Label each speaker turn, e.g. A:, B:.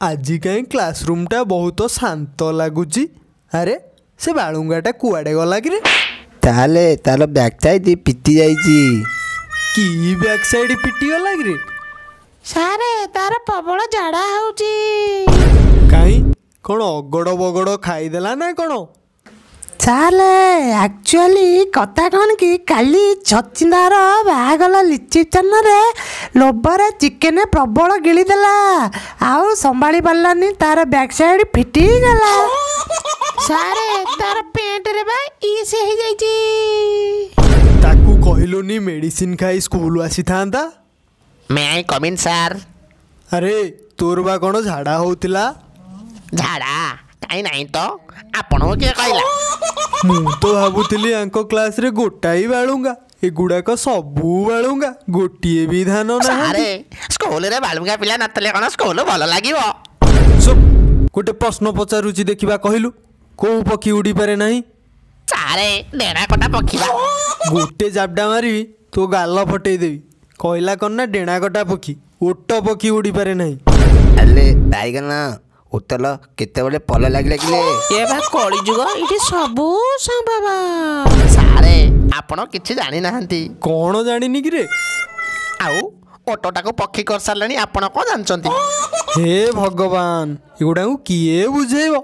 A: ଆଜି କାହିଁ କ୍ଲାସରୁମ୍ଟା ବହୁତ ଶାନ୍ତ ଲାଗୁଛି। ଆରେ, ସେ ବାଳୁଙ୍ଗାଟା କୁଆଡ଼େ ଗଲା କିରେ?
B: ତାହେଲେ ତାର ବ୍ୟାକ୍ ସାଇଡ୍ ପିଟି ଯାଇଛି।
A: କି ବ୍ୟାକ୍ ସାଇଡ୍ ପିଟିଗଲା କିରେ?
C: ସାରେ, ତାର ପ୍ରବଳ ଝାଡ଼ା ହେଉଛି।
A: କାହିଁ, କ'ଣ ଅଗଡ଼ ବଗଡ଼ ଖାଇଦେଲା ନା କ'ଣ?
C: ସାରେ, ଆକ୍ଚୁଆଲି କଥା କ'ଣ କି, କାଲି ଛଚିନ୍ଦାର ବାହାଘର ରିସେପ୍ସନରେ ଲୋଭରେ ଚିକେନ ପ୍ରବଳ ଗିଳିଦେଲା, ଆଉ ସମ୍ଭାଳି ପାରିଲାନି, ତାର ବ୍ୟାକ୍ ସାଇଡ୍ ଫିଟିଗଲା। ସାରେ, ତାର ପେଣ୍ଟରେ ବା ଇସ୍ ହେଇଯାଇଛି।
A: ତାକୁ କହିଲୁନି ମେଡ଼ିସିନ ଖାଇ ସ୍କୁଲ ଆସିଥାନ୍ତା।
D: May I come in, sir?
A: ଆରେ, ତୋର ବା କ'ଣ ଝାଡ଼ା ହଉଥିଲା?
D: ଝାଡ଼ା କାହିଁ ନାହିଁ ତ, ଆପଣଙ୍କୁ କିଏ କହିଲା?
A: ମୁଁ ତ ଭାବୁଥିଲି ୟାଙ୍କ କ୍ଲାସରେ ଗୋଟାଏ ବାଳୁଙ୍ଗା, ଏଗୁଡ଼ାକ ସବୁ ବାଳୁଙ୍ଗା, ଗୋଟିଏ ବି ଧାନ ନାହାନ୍ତି।
D: ସାରେ, ସ୍କୁଲରେ ବାଳୁଙ୍ଗା ପିଲା ନଥିଲେ କ'ଣ ସ୍କୁଲ ଭଲ ଲାଗିବ?
A: ଚୁପ୍! ଗୋଟେ ପ୍ରଶ୍ନ ପଚାରୁଛି, ଦେଖିବା କହିଲୁ, କୋଉ ପକ୍ଷୀ ଉଡ଼ିପାରେ ନାହିଁ?
D: ସାରେ, ଡେଣା କଟା ପକ୍ଷୀ ବା।
A: ଗୋଟେ ଜାବଡ଼ା ମାରିବି, ତୋ ଗାଲ ଫଟେଇ ଦେବି। କହିଲା କ'ଣ ନା ଡେଣା କଟା ପକ୍ଷୀ, ଓଟ ପକ୍ଷୀ ଉଡ଼ିପାରେ ନାହିଁ।
B: ଆଲେ ବାଇଗଣ ଉତ୍ତଲ, କେତେବେଳେ ପଲ ଲାଗିଲା କିରେ?
C: ଏ ବା କଳିଯୁଗ, ଏଠି ସବୁ ସମ୍ଭବ।
D: ସାରେ, ଆପଣ କିଛି ଜାଣିନାହାନ୍ତି।
A: କ'ଣ ଜାଣିନି କିରେ?
D: ଆଉ ଓଟଟାକୁ ପକ୍ଷୀ କରିସାରିଲେଣି, ଆପଣ କ'ଣ ଜାଣିଛନ୍ତି?
A: ହେ ଭଗବାନ, ଏଗୁଡ଼ାକୁ କିଏ ବୁଝେଇବ?